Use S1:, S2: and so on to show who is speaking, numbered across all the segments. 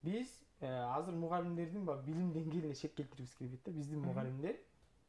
S1: Биз азыр мугалимдердин билим деңгээлине шек келтирибиз келбейт да. Биздин мугалимдер,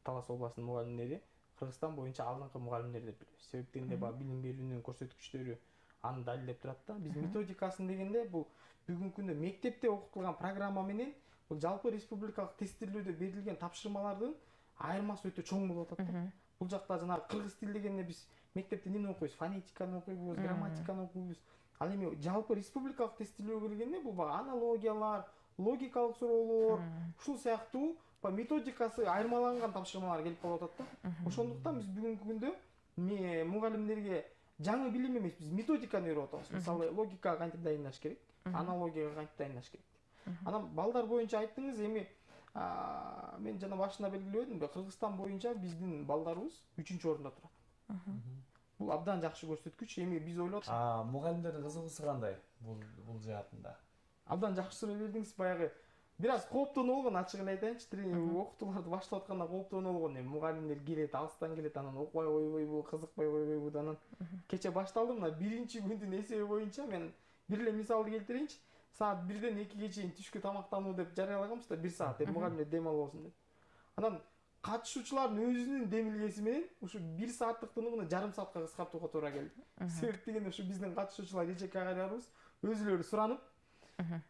S1: Талас областынын мугалимдери Кыргызстан боюнча алдыңкы мугалимдер деп билебиз. Себептен эле билим берүүнүн көрсөткүчтөрү аны далилдеп турат да. Биз методикасын дегенде бул бүгүнкү күндө мектепте окутулган программа менен бул жалпы республикалык тестилөөдө берилген тапшырмалардын айырмасы өтө чоң болуп атат да. Бул жакта жанагы кыргыз тили дегенде биз мектепте эмне окуйбуз? Фонетиканы окуйбуз, грамматиканы окуйбуз. Ал эми жалпы республикалык тестилөөгө келгенде бул аналогиялар, логикалык суроолор, ушул сыяктуу методикасы айырмаланган тапшырмалар келип калып атат да. Ошондуктан биз бүгүнкү күндө мугалимдерге жаңы билим эмес, биз методиканы үйрөтүп атабыз. Мисалы, логикага кантип дайындаш керек, аналогияга кантип дайындаш керек. Анан балдар боюнча айттыңыз, эми мен жана башында белгилебедимби, Кыргызстан боюнча биздин балдарыбыз 3-орунда турат. Бул абдан жакшы көрсөткүч. Эми биз ойлоп атабыз.
S2: Мугалимдердин кызыгуусу кандай бул жаатында?
S1: Абдан жакшы суроо бердиңиз. Баягы бир аз кооптонуп болгон, ачыгын айтайынчы, окутууларды баштап атканда кооптонуп болгон. Эми мугалимдер келет, алыстан келет, анан окубай койбойбу, кызыкпай койбойбу, анан кече башталды. Мына биринчи күндүн эсеби боюнча мен бир эле мисалды келтирейинчи. Саат 1-ден 2-ге чейин түшкү тамактануу деп жарыялаганбыз да, 1 саат деп мугалимдер дем албасын деп. Анан катышуучулардын өзүнүн демилгеси менен ушу 1 сааттык тынугуну жарым саатка кыскартууга туура келди. Себеп дегенде ушу биздин катышуучулар эжеке агайларыбыз өзүлөрү суранып,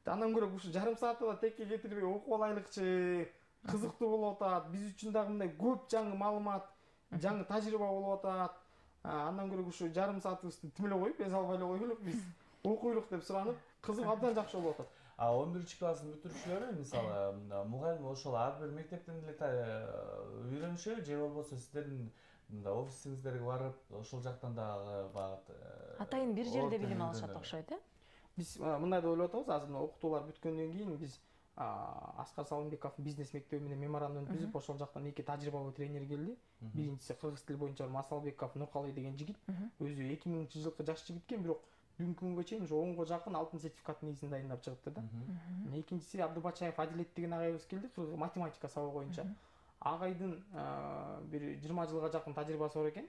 S1: андан көрө ушу жарым саатты да текке кетирбей окуп алайлыкчы, кызыктуу болуп атат. Биз үчүн дагы мындай көп жаңы маалымат, жаңы тажрыйба болуп атат. Андан көрө ушу жарым саатыбызды тим эле коюп, эс албай эле коелук, биз окуйлук деп суранып, кызык абдан жакшы болуп атат.
S2: 11-класстын бүтүрүүчүлөрү мисалы мугалим ошол ар бир мектептен эле үйрөнүшөбү, же болбосо сиздердин офисиңиздерге барып ошол жактан дагы багыт
S3: атайын бир жерде билим алышат окшойт, э?
S1: Биз мындай деп ойлоп атабыз, азыр окутуулар бүткөндөн кийин биз Аскар Салымбековдун бизнес мектеби менен меморандум түзүп, ошол жактан 2 тажрыйбалуу тренер келди. Биринчиси кыргыз тили боюнча Масалбеков Нуркалый деген жигит. Өзү 2000-жылкы жаш жигит экен, бирок бүгүнкү күнгө чейин ушу 10го жакын алтын сертификат негизинде дайындап чыгыпты да. Экинчиси Абдыбачаев Адилет деген агайыбыз келди, математика сабагы боюнча. Агайдын бир 20 жылга жакын тажрыйбасы бар экен.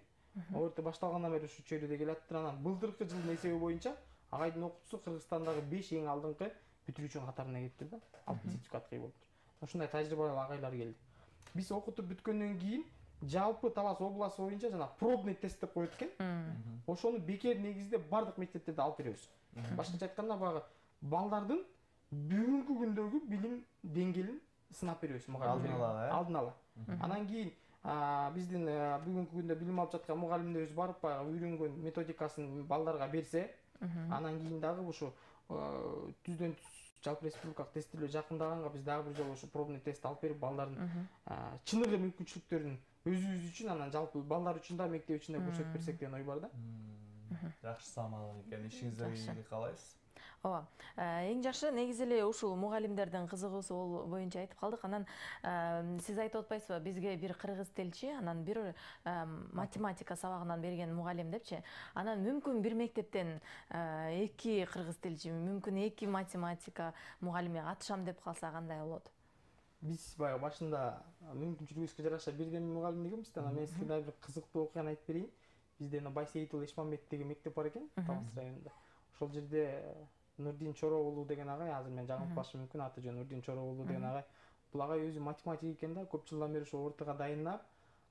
S1: Орто башталгандан бери ушу чөйрөдө келаттыр. Анан былтыркы жылдын эсеби боюнча агайдын окутуусу Кыргызстандагы 5 эң алдыңкы бүтүрүүчүнүн катарына кириптир да. Алтын сертификатка ээ болуптур. Ушундай тажрыйбалуу агайлар келди. Биз окутуп бүткөндөн кийин жалпы Талас областы боюнча жана пробный тест деп коет экен. Ошону бекер негизде бардык мектептерде алып беребиз. Башкача айтканда баягы балдардын бүгүнкү күндөгү билим деңгээлин сынап беребиз мугалимдер. Алдын ала. Анан кийин биздин бүгүнкү күндө билим алып жаткан мугалимдерибиз барып баягы үйрөнгөн методикасын балдарга берсе, анан кийин дагы ушу түздөн түз жалпы республикалык тестилөө жакындаганга биз дагы бир жолу ушу пробный тест алып берип, балдардын чыныгы мүмкүнчүлүктөрүн өзүбүз үчүн, анан жалпы балдар үчүн да мектеп үчүн да көрсөтүп берсек деген ой бар да.
S2: Жакшы самал экен, ишиңизде ийгилик каалайбыз.
S3: Ооба, эң жакшы негизи эле ушул мугалимдердин кызыгуусу боюнча айтып калдык. Анан сиз айтып атпайсызбы, бизге бир кыргыз тилчи, анан бир математика сабагынан берген мугалим депчи. Анан мүмкүн бир мектептен 2 кыргыз тилчи, мүмкүн 2 математика мугалими катышам деп калса кандай болот?
S1: Биз баягы башында мүмкүнчүлүгүбүзгө жараша бирден мугалим дегенбиз да. Анан мен сизге дагы бир кызыктуу окуяны айтып берейин. Бизде Байсейитов Эшмамбет деген мектеп бар экен, Талас районунда. Ошол жерде Нурдин Чороолу деген агай, азыр мен жаңылып калышым мүмкүн, аты жөнү Нурдин Чороолу деген агай. Бул агай өзү математик экен да, көп жылдан бери ошо ортого дайындап,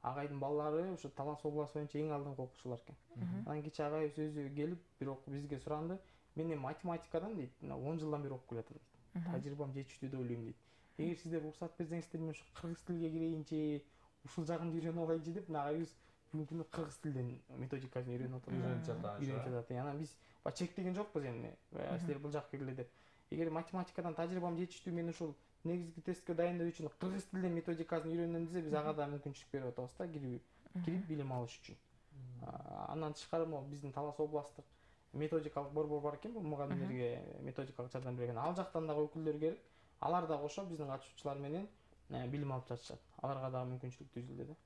S1: агайдын балдары ошо Талас областы боюнча эң алдыңкы окуучулар экен. Анан кечээ агайыбыз өзү келип бир бизге суранды. Мен математикадан дейт, 10 жылдан бери окуп келатам дейт. Тажрыйбам жетиштүү деп ойлойм дейт. Эгер сиздер уруксат берсеңиздер, мен ушу кыргыз тилге кирейинчи, ушул жагымды үйрөнүп алайынчы деп, агайыбыз бүгүнкү күндө кыргыз тилден методикасын үйрөнүп жатат. Анан биз чектеген жокпуз эми, силер бул жакка киргиле деп. Эгер математикадан тажрыйбам жетиштүү, мен ушул негизги тестке дайындоо үчүн кыргыз тилден методикасын үйрөнөм десе, биз ага да мүмкүнчүлүк берип атабыз да, кирип билим алыш үчүн. Андан тышкары биздин Талас областтык методикалык борбор бар экен, бул мугалимдерге методикалык жардам берген. Ал жактан дагы өкүлдөр келип, алар да кошо биздин катышуучулар менен билим алып жатышат. Аларга дагы мүмкүнчүлүк түзүлдү да.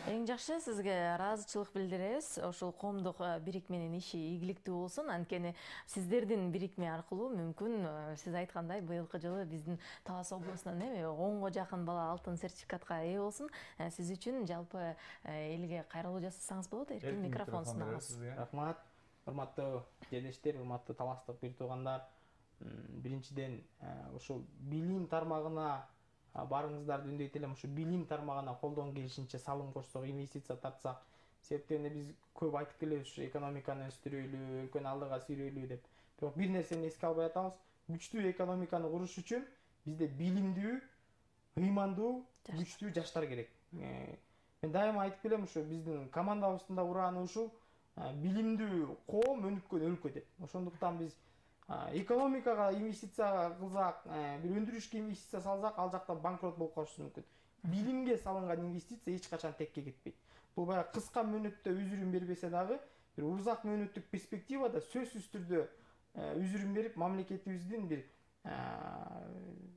S3: Эң жакшы, сизге ыраазычылык билдиребиз. Ошол коомдук бирикменин иши ийгиликтүү болсун. Анткени сиздердин бирикме аркылуу мүмкүн сиз айткандай быйылкы жылы биздин Талас областынан 10го жакын бала алтын сертификатка ээ болсун. Сиз үчүн жалпы элге кайрылуу жасасаңыз болот. Эркин микрофон сунабыз.
S1: Рахмат. Урматтуу жерлештер, урматтуу таластык бир туугандар. биринчиден ошол билим тармагына барыңыздарды үндөйт элем. Ошо билим тармагына колдон келишинче салым кошсок, инвестиция тартсак, себептен биз көп айтып келебиз, ушу экономиканы өстүрөйлү, өлкөнү алдыга сүйрөйлү деп. Бирок бир нерсени эске албай атабыз. Күчтүү экономиканы куруш үчүн бизде билимдүү, ыймандуу, күчтүү жаштар керек. Мен дайыма айтып келем, ушу биздин командабыздын да урааны ушул: билимдүү коом өнүккөн өлкө деп. Ошондуктан биз экономикага инвестиция кылсак, бир өндүрүшкө инвестиция салсак, ал жакта банкрот болуп калышыбыз мүмкүн. Билимге салынган инвестиция эч качан текке кетпейт. Бул баягы кыска мөөнөттө үзүрүн бербесе дагы, бир узак мөөнөттүк перспективада сөзсүз түрдө үзүрүн берип, мамлекетибиздин бир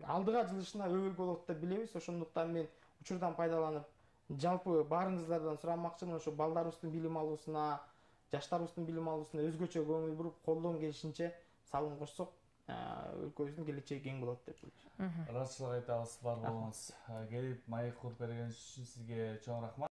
S1: алдыга жылышына өбөл болот деп билебиз. Ошондуктан мен учурдан пайдаланып жалпы баарыңыздардан сурамакчымын, ошо балдарыбыздын билим алуусуна, жаштарыбыздын билим алуусуна өзгөчө көңүл буруп, колдон келишинче салым кошсок, өлкөбүздүн келечеги кең болот деп ойлойм.
S2: Ыраазычылык айтабыз бар болуңуз. Келип маек куруп бергениңиз үчүн сизге чоң рахмат.